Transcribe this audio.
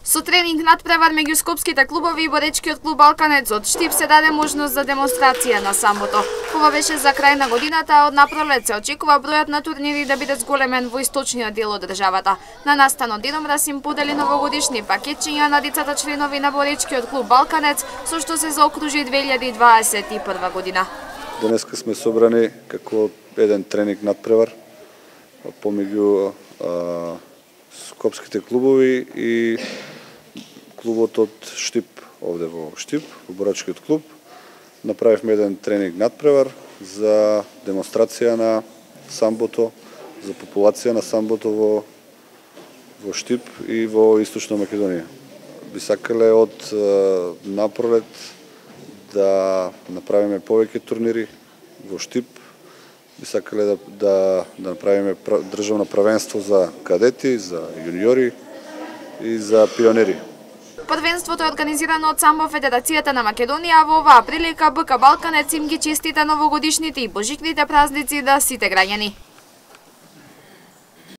Со тренинг надпревар меѓу скопските клубови и боречкиот клуб Балканец од Штип се даде можност за демонстрација на самбото. Ова беше за крај на годината, а од напролет се очекува бројот на турнири да биде зголемен во источниот дел од државата. На настанот Диномраз им подели новогодишни пакетчиња на децата членови на боречкиот клуб Балканец, со што се заокружи 2021 година. Денеска сме собрани како еден тренинг надпревар помеѓу скопските клубови и клубот од Штип, овде во Штип, во борачкиот клуб. Направивме еден тренинг надпревар за демонстрација на самбото, за популација на самбото во Штип и во Источна Македонија. Би сакале од напролет да направиме повеќе турнири во Штип. Би сакале да направиме државно првенство за кадети, за јуниори и за пионери. Првенството е организирано од самбо Федерацијата на Македонија, а во оваа прилика БК Балканец им ги честита новогодишните и божикните празници да сите граѓани.